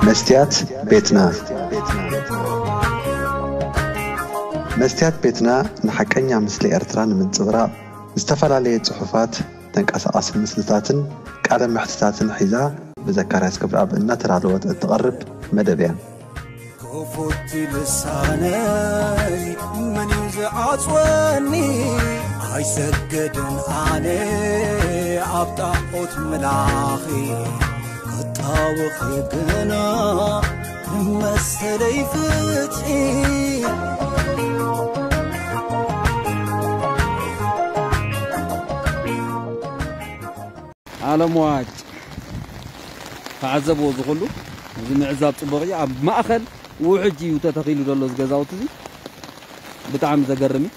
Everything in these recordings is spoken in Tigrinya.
መስትያት ቤትና። መስትያት ቤትና ንሓቀኛ ምስሊ ኤርትራ ንምንጽብራቕ ዝተፈላለየ ጽሑፋት፣ ተንቀሳቓሲ ምስልታትን ቃለ መሕትታትን ሒዛ ብዘካርያስ ክብረኣብ እናተዳለወት እትቐርብ መደብ እያ። ክፉት ልሳነይ መን እዩ ዝዓጽወኒ? ኣይሰግድን ኣነ ኣብ ጣዖት ምላኺ፣ ክጣወኺ ግና መሰለይ ፍትሒ። ዓለም ዋጭ ተዓዘብዎ፣ እዚ ኩሉ እዚ ምዕዛብ ጽቡቕ እዩ። ኣብ ማእከል ውሕጅ እዩ ተተኺሉ ዘሎ እዚ ገዛውቲ እዚ። ብጣዕሚ ዘገርም እዩ።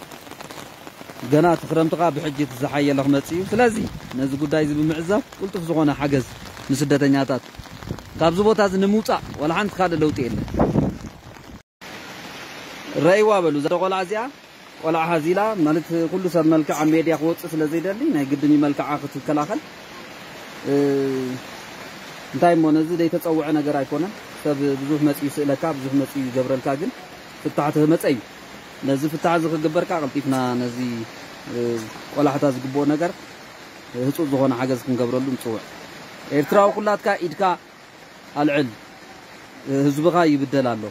ገና እቲ ክረምቲ ከኣ ብሕጂ እቲ ዝሓየለ ክመጽእ እዩ። ስለዚ ነዚ ጉዳይ እዚ ብምዕዛብ ቅልጡፍ ዝኾነ ሓገዝ ንስደተኛታት ካብዚ ቦታ እዚ ንምውጻእ ዋላ ሓንቲ ካልእ ለውጢ የለን። ረእይዋ በሉ፣ እዛ ቆልዓ እዚኣ ቆልዓ ሃዚላ ማለት ኩሉ ሰብ መልክዓ ኣብ ሜድያ ክወጽእ ስለ ዘይደሊ ናይ ግድን እዩ መልክዓ ክትከላኸል። እ፣ እንታይ እሞ ነዚ ዘይተጸውዐ ነገር ኣይኮነን። ሰብ ብዙሕ መጽዩ ይስእለካ፣ ብዙሕ መጽዩ ይገብረልካ፣ ግን ፍታሕ ተመጸ እዩ። ነዚ ፍታሕ እዚ ክግበርካ ቀልጢፍና ነዚ፣ እ፣ ቆላሕታ ዝግብኦ ነገር ህጹጽ ዝኾነ ሓገዝ ክንገብረሉ ንጽውዕ። ኤርትራዊ ኩላትካ ኢድካ ኣልዕል፣ እ፣ ህዝብኻ ይብደል ኣሎ።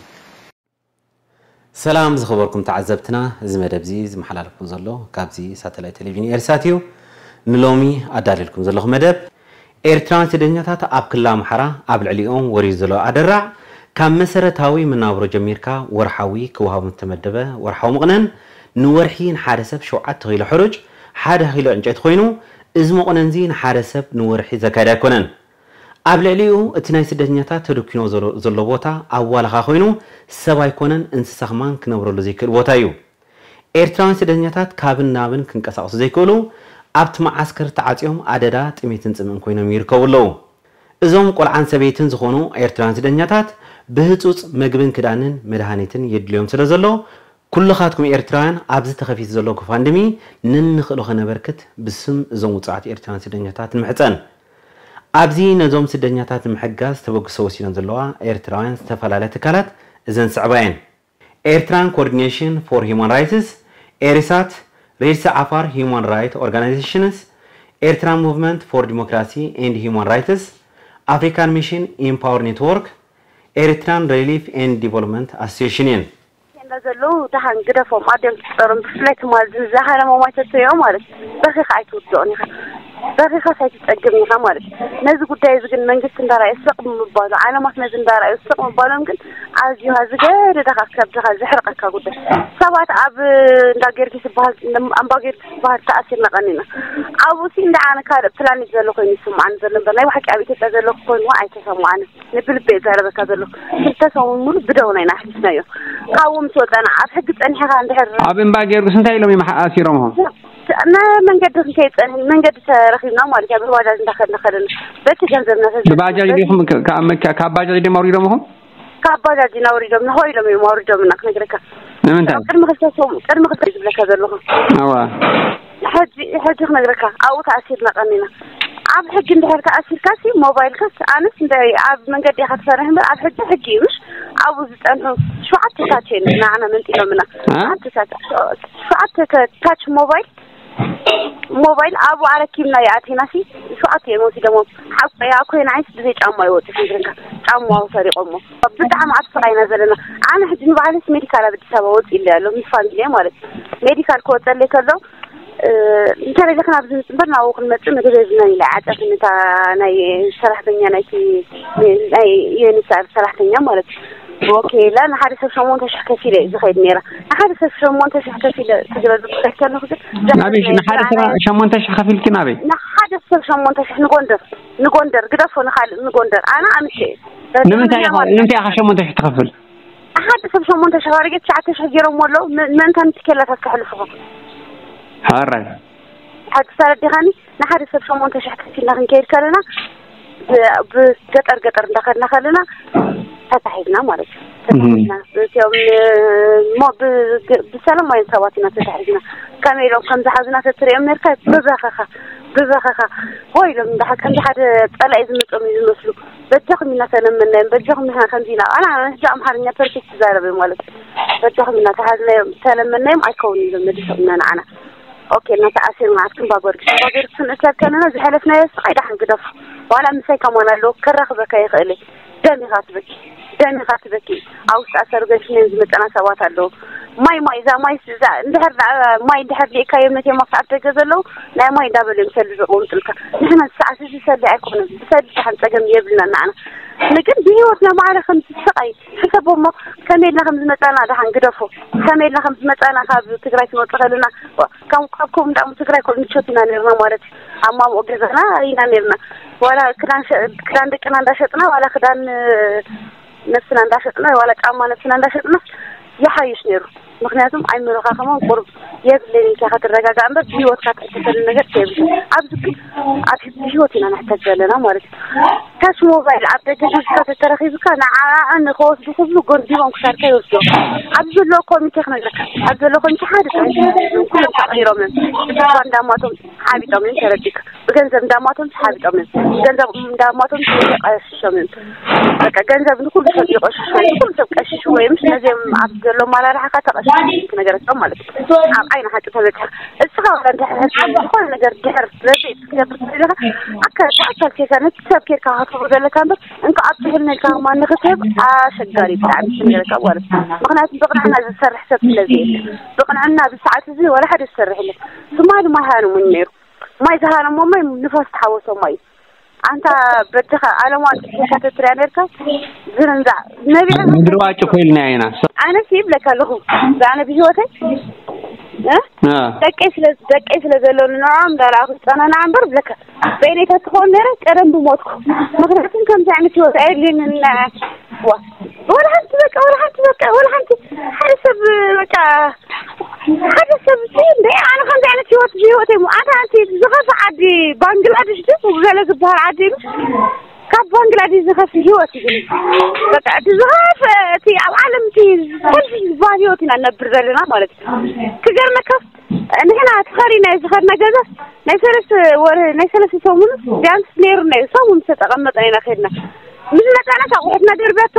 ሰላም ዝኸበርኩም ተዓዘብትና፣ እዚ መደብ እዚ ዝመሓላለፍኩም ዘሎ ካብዚ ሳተላይት ቴሌቪዥን ኤሪሳት እዩ። ንሎሚ ኣዳልየልኩም ዘለኹ መደብ፣ ኤርትራውያን ስደተኛታት ኣብ ክልል ኣምሓራ ኣብ ልዕሊኦም ወሪዱ ዘሎ ኣደራዕ፣ ካብ መሰረታዊ መናብሮ ጀሚርካ ወርሓዊ ክወሃቦም ዝተመደበ ወርሓዊ መቑነን፣ ንወርሒ ንሓደ ሰብ ሸውዓተ ኪሎ ሕሩጭ፣ ሓደ ኪሎ ዕንጨይቲ ኮይኑ፣ እዚ መቑነን እዚ ንሓደ ሰብ ንወርሒ ዘካይድ ኣይኮነን። ኣብ ልዕሊኡ እቲ ናይ ስደተኛታት ተደኪኖ ዘሎ፣ ዘሎ ቦታ ኣዋላኻ ኮይኑ ሰብ ኣይኮነን እንስሳ ከማን ክነብረሉ ዘይክእል ቦታ እዩ። ኤርትራውያን ስደተኛታት ካብን ናብን ክንቀሳቐሱ ዘይክእሉ ኣብቲ መዓስከር ተዓጽዮም ኣደዳ ጥሜትን ጽምእን ኮይኖም ይርከቡ ኣለዉ። እዞም ቆልዓን ሰበይትን ዝኾኑ ኤርትራውያን ስደተኛታት ብህጹጽ መግብን ክዳንን መድሃኒትን የድልዮም ስለ ዘሎ ኩልኻትኩም ኤርትራውያን ኣብዚ ተኸፊቱ ዘሎ ጎፋንድሚ ነንኽእሎ ከነበርክት ብስም እዞም ውጹዓት ኤርትራውያን ስደተኛታት ንምሕጸን። ኣብዚ ነዞም ስደተኛታት ንምሕጋዝ ተበግሶ ወሲደን ዘለዋ ኤርትራውያን ዝተፈላለያ ትካላት እዘን ዝስዕባ እየን። ኤርትራን ኮኦርዲኔሽን ፎር ሂውማን ራይትስ፣ ኤሪሳት፣ ሬድሲ ዓፋር ሂውማን ራይት ኦርጋናይዜሽንስ፣ ኤርትራን ሙቭመንት ፎር ዲሞክራሲ ኤንድ ሂውማን ራይትስ፣ ኣፍሪካን ሚሽን ኢምፓወር ኔትወርክ፣ ኤሪትራን ሪሊፍ ኤንድ ዲቨሎፕመንት ኣሶሲሽን እየን። እንዳ ዘለዉ ደሓን ግደፎም፣ ኣድዮም ትፍጠሮም፣ ብፍላይ ትማል ዝዛሃረ መማይተቶ እዮም ማለት እዩ። በኺኻ ኣይትውድኦን ኢኻ፣ በኺኻስ ኣይትጸግብን ኢኻ ማለት እዩ። ነዚ ጉዳይ እዚ ግን መንግስቲ እንዳረኣየ ስቕ ብምባሉ፣ ዓለማት ነዚ እንዳረኣዩ ስቕ ምባሎም ግን ኣዝዩ ዝገደደኻ፣ ከብድኻ ዘሕርቐካ ጉዳይ። ሰባት ኣብ እንዳ ጊዮርጊስ ዝበሃል፣ ኣምባ ጊዮርጊስ ዝበሃል ተኣሲርና ቀኒና። ኣብኡ ሲ እንዳ ኣነ ካልእ ፕላኔት ዘሎ ኮይኑ ይስምዓኒ ዘሎ እምበር፣ ናይ ብሓቂ ኣብ ኢትዮጵያ ዘሎ ኮይኑ ኣይተሰምዓንን። ንብልቢ እዛረበካ ዘለኹ። ክልተ ሰሙን ሙሉ ብደውና ኢና ኣሕሊፍናዮ። ካብኡ ምስ ወጻና ኣብ ሕጊ ጸኒሕኻ እንድሕር ኣብ እምባ ጊዮርጊስ እንታይ ኢሎም እዮም ኣሲሮምኹም? ንመንገዲ ክንከይድ ጸኒሕና፣ መንገዲ ተረኺብና ማለት እያ። ብባጃጅ እንዳኸድና ከለና በቲ ገንዘብና ተዘ- ብባጃጅ ዲኹም ከ-፣ ካብ መኪ-፣ ካብ ባጃጅ ድዮም ኣውሪዶምኹም? ካብ ባጃጅ ኢና ኣውሪዶምና፣ ሆ ኢሎም እዮም ኣውሪዶምና ክነግረካ። ንምንታይ? ቅድሚ ክልተ ሰሙን፣ ቅድሚ ክልተ ዝብለካ ዘለኹ። ኣዋ። ሕጂ፣ ሕጂ ክነግረካ፣ ኣብኡ ተኣሲርና ቀኒና። ኣብ ሕጊ እንድሕር ተኣሲርካሲ፣ ሞባይልካስ፣ ኣነስ እንደ ኣብ መንገዲ ኢኻ ትሰርሕ እምበር፣ ኣብ ሕጊ፣ ሕጊ እዩ፣ ምሽ? ኣብኡ ዝጸንሑ ሸውዓተ ሳት እዮም ንዓና መንጢሎምና። እ? ሸውዓተ ሳት፣ ሸውዓተ ተ-፣ ታች ሞባይል፣ ሞባይል ኣብኡ ኣረኪብና ይኣቲናሲ፣ ሸውዓተ እዮም ወሲዶሞም። ሓቆ እያ፣ ኮይና ዓይንስ ብዘይ ጫማ ይወጡ፣ ሽግርንካ ጫማኡ ሰሪቖሞ። ብጣዕሚ ኣብ ስቓይ ኢና ዘለና። ኣነ ሕጂ ንባዕለይስ ሜዲካል ኣብ ኣዲስ ኣበባ ወጺእለይ ኣሎ፣ ምስ ፋሚሊየ ማለት እዩ። ሜዲካል ክወጸለይ ከሎ፣ እ፣ እንተደሊኽና ኣብዚ ንጽንበር ናብኡ ክንመጽእ ምግቢ የብልናን ኢላ ዓጸትኒ እታ ናይ ሰራሕተኛ ናይቲ ናይ ዩ ኤን ኤች ሲ ኣር ሰራሕተኛ ማለት እዩ። ኦኬ ኢላ ንሓደ ሰብ ሸሞንተ ሽሕ ከፊለ እዩ ዝኸይድ ነይራ። ንሓደ ሰብ ሸሞንተ ሽሕ ከፊለ ክግበዝ ክኸይድ ከለኹ ግን ኣበይ ሽ-፣ ንሓደ ሰብ ሸሞንተ ሽሕ ከፊልኪ ናበይ? ንሓደ ሰብ ሸሞንተ ሽሕ ንጎንደር፣ ንጎንደር ግደፎ ንኻልእ ንጎንደር። ኣነ ኣምሸ እየ። ንምንታይ ኢኻ፣ ንምንታይ ኢኻ ሸሞንተ ሽሕ ትኸፍል? ሓደ ሰብ ሸሞንተ ሽሕ ኣረጊት ትሽዓተ ሽሕ ገይሮምዎ ኣለዉ። ም-፣ ምእንታን እቲ ኬላታት ከሕልፉኻ። ሕራይ። ሕጂ ተረዲኻኒ? ንሓደ ሰብ ሸሞንተ ሽሕ ከፊልና ክንከይድ ከለና፣ ብ-፣ ብገጠር ገጠር እንዳኸድና ከለና ተታሒዝና ማለት እዩ። እህ። ተታሒዝና። እቲኦም፣ እ፣ ሞ-፣ ብ-፣ ግ-፣ ብሰላማውያን ሰባት ኢና ተታሒዝና። ከመይ ኢሎም ከም ዝሓዙና ተትሪኦም ነርካ፣ ብበኸኻ። ብበኸኻ ሆ ኢሎም እንዳ ከምዚ ሓደ ጸላኢ ዝመጾም እዩ ዝመስሉ። በጃኹም ኢና ተለመናዮም፣ በጃኹም ኢና ከምዚ ኢና። ኣና ሕጂ ኣምሓርኛ ፐርፌክት ይዛረብ እየ ማለት እዩ። በጃኹም ኢና ተሃዝናዮም፣ ተለመናዮም ኣይከውን ኢሎም መሊሶምና ንዓና። ኦኬ፣ እና ተኣሲርና ኣብ ክንባ ጊዮርጊስ፣ ክንባ ጊዮርጊስ ክንእከብ ከለና ዝሓለፍናዮ ስቓይ ደሓን ግደፎ። ዋላ ምሳይ ከማን ኣለዎ፣ ከራኽበካ ይኽእል እየ። ደም ኢኻ ትበኪ፣ ደም ኢኻ ትበኪ። ኣብ ውሽጢ ኣሰር ገሽነን ዝመጸና ሰባት ኣለዉ። ማይ፣ ማይ፣ እዛ ማይ፣ እዛ እንድሕር ደኣ ማይ እንድሕር ደይካዮም ነቲ ኣብ ደገ ዘለዉ ናይ ማይ እንዳበሉ እዮም ሰልዲ ዘቐምጡልካ። ንሕና ሰዓት እዚ ሰልዲ ኣይኮነን፣ ብሰልዲ ደሓን ጸገም የብልና ንዓና። ንግን ብህይወትና ማዕረ ከም ዝስቓይ ሕሰቦሞ፣ ከመይ ኢልና ከም ዝመጻና ደሓን ግደፎ። ከመይ ኢልና ከም ዝመጻና ካብ ትግራይ ክንወጽእ ከለና፣ ካብ፣ ካብ ከምኡ እንዳሞ ትግራይ ኮ ምቾት ኢና ነርና ማለት እዩ። ኣብ ማምኦ ገዛና ኢና ነርና። ዋላ ክዳን ሸ-፣ ክዳን ደቅና እንዳሸጥና፣ ዋላ ክዳን ነብስና እንዳሸጥና፣ ዋላ ጫማ ነብስና እንዳሸጥና ይሓይሽ ነይሩ። ምኽንያቱም ኣይምሮኻ ከማን ቁሩብ የብለይን ኢልካ ክትረጋጋእ እምበር ብህይወትካ ትሕተተሉ ነገር ከየብልካ። ኣብዚ ግን ኣብ ህይወት ኢና ንሕተት ዘለና ማለት እዩ። ካሽ ሞባይል ኣብ ደገ ሒዝካ ተተረኺብካ ንዓኣ ንኸወስዱ ክብሉ ጎንዲቦም ክሳድካ ይወስድዎ። ኣብዚ ዘለዎ ኮሚቴ ክነግረካ፣ ኣብዚ ዘለዎ ኮሚቴ ሓደ ጥራይ ኩሎም ተቐይሮም እዮም። ብስድራ እንዳማቶም ሓቢጦም እዮም ተረዲካ። ብገንዘብ እንዳማቶም ሓቢጦም እዮም። ገንዘብ እንዳማቶም ቀሽሾም እዮም። በቃ ገንዘብ ንኩሉ ሰብ ይቐሽሾ፣ ንኩሉ ሰብ ቀሽሽዎ እዮም። ነዚኦም ኣብ ዘሎ ኣመራርሓ ተቐሽሾም ክነገረካ ማለት እዩ። ኣብ ዓይኒ ሓቂ ተበፅሐ እስኻ ወላ ድሕር ዝኾነ ነገር ድሕር ረድኤት ክትገብር ትደለኻ ኣካል ብኣካል ኬድካ ነቲ ሰብ ኬድካ ክትህቦ ዘለካ እምበር እንካ ኣብ ትሕልና ኢልካ ከማን ንክትህብ ኣሸጋሪ ብጣዕሚ ክነገረካ ማለት እዩ። ምኽንያቱ ብቕንዕና ዝሰርሕ ሰብ ስለዚ እዩ። ብቕንዕና ብሰዓት እዚ ወላ ሓደ ዝሰርሕ የለን። ትማሊ ማይ ሃነሙ ነይሩ። ማይ ዝሃነሞ ማይ ንፋስ ተሓወሶ ማይ እዩ። ኣንታ በድኻ ኣለማ ጽሒካ ተትሪያ ነርካ ዝርንዛ ነቢዐ ምድሪ ዋጭ ኮይልና ኢና። ኣነ ይብለካ ኣለኹ ኣነ ብህይወተይ እ? እ። ደቀይ ስለ ደቀይ ስለ ዘለኒ ንዕኦም እንዳረኣኹ ዝጸናናዕ እምበር ብለካ በይነይ ተትኸውን ነረ ቀደም ብሞትኩ። ምኽንያቱም ከምዚ ዓይነት ህይወት ኣየድልየንን። ዋ፣ ወላ ሓንቲ በቃ፣ ወላ ሓንቲ በቃ፣ ወላ ሓንቲ ሓደ ሰብ በቃ፣ ሓደ ሰብ ሲ እንደ ኣነ ከምዚ ዓይነት ህይወት ህይወት እሞ ኣታ ኣንቲ ዝኸፍእ ዓዲ ባንግላዴሽ ድዩ ገለ ዝበሃል ዓዲ እዩ። ካብ ባንግላዴሽ ዝኸፍእ ህይወት እዩ ግን በቃ እቲ ዝኸፍእ እቲ ኣብ ዓለም እቲ ሰልፊ ዝበሃል ህይወት ኢና ነብር ዘለና ማለት እዩ። ክገርመካ ንሕና ተኸሪና ዝኸድና ገዛ ናይ ሰለስተ ወር ናይ ሰለስተ ሰሙን ቢያንስ ነይሩ ናይ ሰሙን ዝተቐመጠ ኢና ከድና። ምስ መጣናት ኣቑሑትና ደርበቶ፣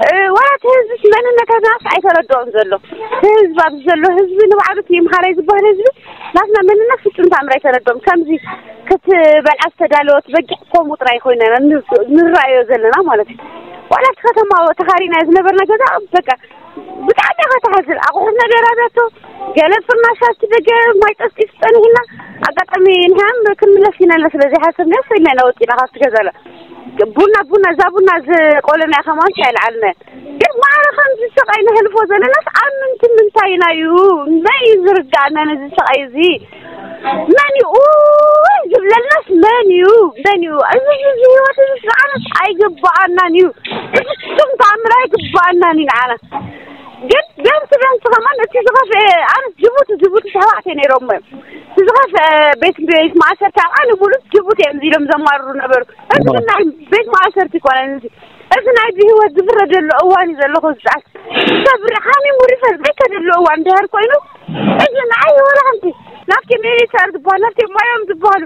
እ፣ ዋላ እቲ ህዝብስ መንነታትናስ ኣይተረድኦን ዘሎ። እቲ ህዝቢ ኣብዚ ዘሎ ህዝቢ ንባዕሉ እቲ ይምሃራይ ዝበሃል ህዝቢ ናትና መንነት ፍጹም ተኣምር ኣይተረድኦም። ከምዚ ክትበልዓ ዝተዳለወት በጊዕ ከምኡ ጥራይ ኮይና ኢና ን-፣ ንረኣዮ ዘለና ማለት እዩ። ዋላ እቲ ከተማ ተኻሪና ዝነበርና ገዛ በቃ ብጣዕሚ ኢኻ ትሓዝን። ኣቑሑትና ደራርያቶ፣ ገለ ፍርናሻት ደገ ማይ ጠስጢስ ጸኒሕና። ኣጋጣሚ ንሕናም ክንምለስ ኢና ኢልና ስለ ዘይሓሰብና፣ ሰ ኢልና ኢና ወጺና ካብቲ ገዛና። ቡና፣ ቡና፣ እዛ ቡና ዝቆለና ከማን ኣይልዓልና። ግን ማዕረ ከምዚ ስቓይ ነሕልፎ ዘለናስ ኣብ ምንቲ ምንታይ ኢና እዩ? መን እዩ ዝርድኣና ነዚ ስቓይ እዚ? መን እዩ ኡይ ዝብለልናስ መን እዩ? መን እዩ? እዚ፣ እዚ ህይወት እዚ ንዓናስ ኣይግብኣናን እዩ። ብፍጹም ተኣምር ኣይግብኣናን እዩ ንዓና። ግን ቢያንስ፣ ቢያንስ ከማን እቲ ዝኸፍአ፣ ኣነስ ጅቡቲ፣ ጅቡቲ ኣሕዋተይ ነይሮም እዮም። እቲ ዝኸፍአ ቤት፣ ቤት ማእሰርቲ ኣብ ዓለም ሙሉእ ጅቡቲ እዮም ኢሎም ዘማርሩ ነበሩ። እዚ ግን ናይ ቤት ማእሰርቲ ይኮነን እዚ። እዚ ናይ ብህይወት ዝፍረደሉ እዋን እዩ ዘለኹ ዝፀዓት። ሰብ ሓሚሙ ሪፈር ዘይከደሉ እዋን ድሕር ኮይኑ፣ እዚ ንዓይ ወላ ሓንቲ ናብቲ ሚኒስተር ዝበሃል፣ ናብቲ ማዮም ዝበሃሉ፣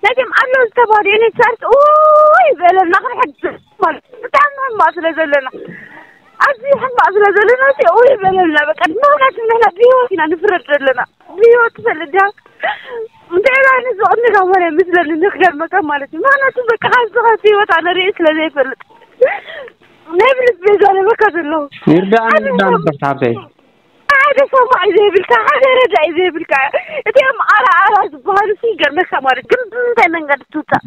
ነዚኦም ኣለዉ ዝተባህሉ ዩኒት ሰርት ኡይ በለልና ክንሕግዝ ማለት እዩ። ብጣዕሚ ሕማቕ ስለ ዘለና፣ ኣዝዩ ሕማቕ ስለ ዘለና፣ እዚ ኡይ በለልና። በቃ፣ ምኽንያቱ ንሕና ብህይወት ኢና ንፍረድ ዘለና። ብህይወት ትፈልጥ ዲኻ? እንታይ ዓይነት ዝቕንጋ ወረ ምስለኒ ንኽገርመካ ማለት እዩ። ምኽንያቱ በቃ፣ ካብዚ ኸብቲ ህይወት ኣነ ርእየ ስለ ዘይፈልጥ፣ ናይ ብልት ቤዛ ለበካ ዘለኹ። ይርዳእኒ፣ ሓደ ይርዳእኒ፣ ሰብ በርታ ሓብተይ። ሓደ ሰማዒ ዘይብልካ፣ ሓደ ረዳኢ ዘይብልካ። እቲኦም ኣራ ኣራ ዝበሃሉ ሲ ይገርመካ ማለት ግን ብምንታይ መንገዲ ትውፃእ?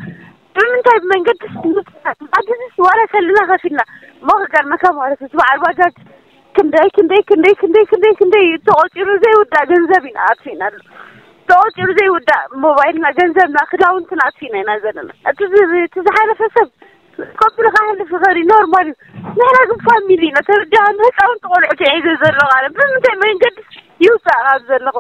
ብምንታይ መንገዲ ትውፃእ? ኣዲስ ዋላ ከልና ከፊልና እሞ ክገርመካ ማለት እዩ። እቲ በዓል ባጃጅ ክንደይ፣ ክንደይ፣ ክንደይ፣ ክንደይ፣ ክንደይ፣ ክንደይ ተቖፂሩ ዘይውዳእ ገንዘብ ኢና ኣጥፊእናሉ። ተቖፂሩ ዘይውዳእ ሞባይልና፣ ገንዘብና፣ ክዳውንትና ኣጥፊእና ኢና ዘለና። እቲ ዝ-፣ እቲ ዝሓለፈ ሰብ ከብሉ ክሓልፍ ይኽእል እዩ፣ ኖርማል እዩ። ንሕና ግን ፋሚሊ ኢና፣ ተረዳእኒ። ህፃውንቲ ቆልዑት እየ ሒዘ ዘለኹ ኣነ። ብምንታይ መንገዲ ይውፃእ ካብ ዘለኹ?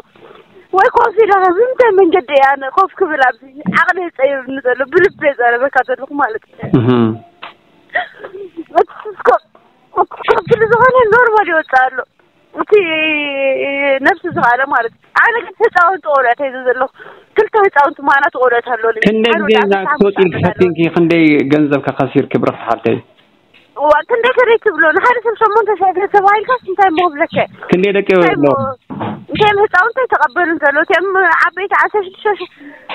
ወይ ኮፍ ኢለ ኸ ብምንታይ መንገዲ እየ ኣነ ኮፍ ክብል ኣብዚ? ዓቕሊ የፀይብኒ ዘሎ፣ ብልቢ የዛረበካ ዘለኹ ማለት እዩ። እህ። እቲ ስኮ-፣ ኮፍ ክብል ዝኾነ ኖርማል ይወፅእ ኣሎ። እቲ ነብሲ ዝኸኣለ ማለት እዩ። ኣነ ግን ህፃውንቲ ቆልዑት ሒዘ ዘለኹ። ክልተ ህፃውንቲ ማና ትቆልኦት ኣሎ ልጅ ክንደይ ሓደ ግዜ ወዲ እዛ ኣስራ ክትወፂ ሓሙሽተ ዓመት ኣሎ። ፈቲንኪ ክንደይ ገንዘብ ከኸሲርኪ ብረኽቲ ሓፍተይ? እዋ ክንደይ ከደይ ትብሎ ንሓደ ሰብ ሸሞንተ ሽሕ ገንዘብ ተባሂልካ እንታይ እሞ ብለከ ክንደይ ደቂ እንታይ ኣሎ? እሞ እንታይ ህፃውንቲ ኣይተቐበሉን ዘሎ እቲኦም ዓበይቲ ዓሰርተ ሽዱሽተ ሽሕ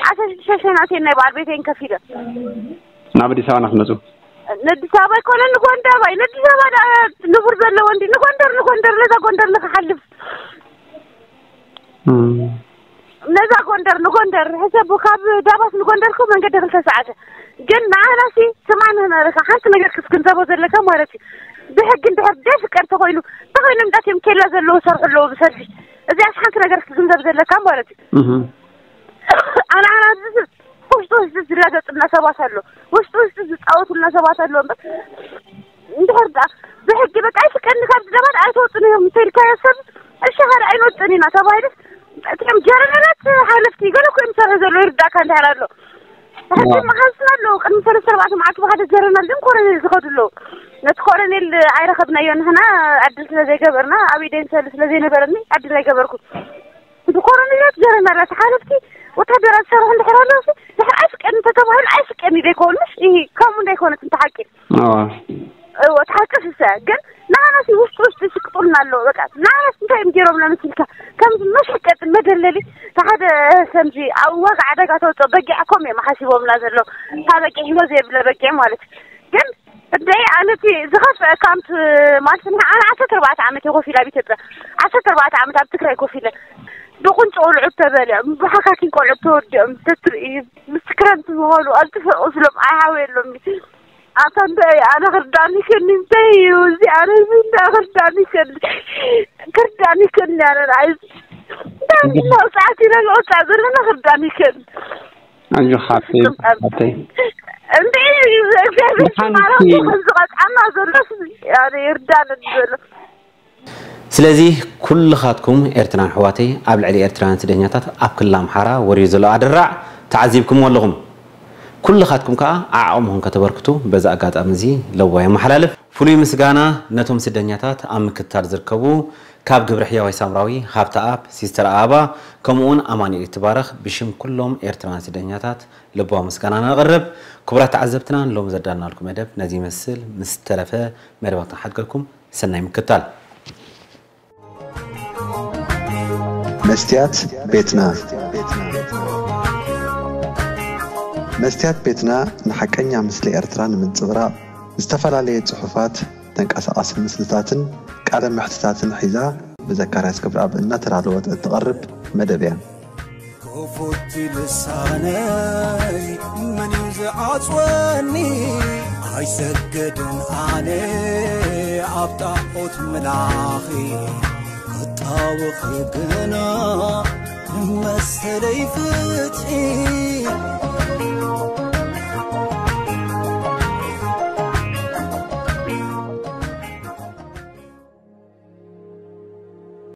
ዓሰርተ ሽዱሽተ ሽሕ ናተይ ናይ በዓል ቤተይን ከፊለ ናብ ኣዲስ ኣበባ ንክመፁ ነዲስ ኣበባ ኣይኮነ ንጎንደር ባይ ነዲስ ኣበባ ደኣ ንቡር ዘለዎ እንዲ ንጎንደር ንጎንደር ነዛ ጎንደር ንክሓልፍ እም፣ ነዛ ጎንደር ንጎንደር ሕሰቡ ካብ ዳባት ንጎንደር እኮ መንገዲ ክልተ ሰዓት ግን ንዓናሲ ስማን ንሕና ሓንቲ ነገር ክትግንዘቦ ዘለካ ማለት እዩ ብሕጊ እንድሕር ደፍቀድ ተኮይኑ ተኮይኑ እንዳትዮም ኬላ ዘለዎ ሰርሑ ኣለዎ ብሰልፊ እዚኣስ ሓንቲ ነገር ክትግንዘብ ዘለካ ማለት እዩ እም፣ ኣነ ኣነ ውሽጡ ውሽጡ ዝላገጥና ሰባት ኣሎ ውሽጡ ውሽጡ ዝፃወቱልና ሰባት ኣሎ እምበር እንድሕር ደኣ ብሕጊ በቃ ኣይስቀኒ ካብ ደባት ኣይተወፅን እዮም እንተልካዮ ሰብ እሺ ሓደ ኣይንወፅን ኢና ተባሂሉ እቲኦም ጀረነላት ሓለፍቲ ገለ እኮ እዮም ዝሰርሑ ዘለዉ ይርዳእካ እንድሕር ኣሎ ሕጂ መሓዝና ኣለዉ ቅድሚ ሰለስተ ኣርባዕተ መዓልቲ ብሓደ ጀረናል ግን ኮረኔል ዝኸዱ ኣለዉ ነቲ ኮረኔል ኣይረኸብናዮ ንሕና ዕድል ስለ ዘይገበርና ኣብ ኢደይ ንሰሊ ስለ ዘይነበረኒ ዕድል ኣይገበርኩ ብኮረኔላት ጀረናላት ሓለፍቲ ወታደራት ዝሰርሑ እንድሕር ኣለዉ ድሕር ኣይስቀኒ ተተባሂሉ ኣይስቀኒ ዘይከውን ምሽ ከምኡ እንዳይኮነት እንተሓቂ ኣዋ እዎ ተሓቂ ስሰ ግን ንዓናሲ ውሽጢ ውሽጢ ይስቅጡልና ኣለዉ በቃ ንዓናስ እንታይ እዮም ገይሮምና መሲልካ ከምዚ መሸቀጢ መደለሊ ሓደ ከምዚ ኣብ ዋጋ ዕዳጋ ተውፅኦ በጊዕ ኮም እዮም ሓሲቦምና ዘለዉ እታ በጊዕ ሂወ ዘይብለ በጊዕ ማለት እዩ ግን እደይ ኣነቲ ዝኸፍአ ካምፕ ማለት ንዓ ኣነ ዓሰርተ ኣርባዕተ ዓመት እየ ኮፍ ኢለ ኣብ ኢትዮጵያ ዓሰርተ ኣርባዕተ ዓመት ኣብ ትግራይ ኮፍ ኢለ ብቁንጪ ቆልዑት ተበሊዖም ብሓካኪን ቆልዑት ተወዲኦም ተትርኢ ምስ ክረምቲ ምኾኑ ኣልጥፈ ቁስሎም ኣይሃወየሎም ኣታ እንታይ ኣነ ክርዳእኒ ከኒ እንታይ እዩ እዚ ኣነ እዚ እንታይ ክርዳእኒ ከኒ ክርዳእኒ ከኒ ኣነ ንዓይ እንታይ ኢና ውፅዓት ኢና ንወፅዓ ዘለና ክርዳእኒ ከኒ ኣጆ ሓፍተይ ሓፍተይ እንዴ እግዚአብሔር መሓንቲ ማረው ከምዚ ቀጣና ዘሎ ኣነ ይርዳን ዘሎ ስለዚ ኩልኻትኩም ኤርትራን ኣሕዋተይ ኣብ ልዕሊ ኤርትራውያን ስደኛታት ኣብ ክልል ኣምሓራ ወሪዱ ዘሎ ኣደራዕ ተዓዚብኩምዎ ኣለኹም። ኩልኻትኩም ከኣ ዓዓቕምኹም ከተበርክቱ በዚ ኣጋጣሚ እዚ ለዋይ የመሓላልፍ። ፍሉይ ምስጋና ነቶም ስደኛታት ኣብ ምክትታል ዝርከቡ ካብ ግብረ ሕያዋይ ሳምራዊ፣ ሃብተኣብ፣ ሲስተር ኣበባ ከምኡውን ኣማኑኤል ይትባረኽ ብሽም ኩሎም ኤርትራውያን ስደኛታት ልባዊ ምስጋና ነቕርብ። ክቡራት ተዓዘብትና ንሎሚ ዘዳልናልኩም መደብ ነዚ ይመስል። ምስ ተረፈ መደባት ንሓድገኩም ሰናይ ምክትታል። መስትያት ቤትና መስትያት ቤትና ንሓቀኛ ምስሊ ኤርትራ ንምንጽብራቕ ዝተፈላለየ ጽሑፋት ተንቀሳቓሲ ምስልታትን ቃለ መሕትታትን ሒዛ ብዘካርያስ ክብረኣብ እናተዳለወት እትቐርብ መደብ እያ። ክፉት ልሳነይ መን እዩ ዝዓጽወኒ ኣይሰገድን ኣነ ኣብ ጣዖት ምላኺ ክጣወኺ ግና መሰለይ ፍትሒ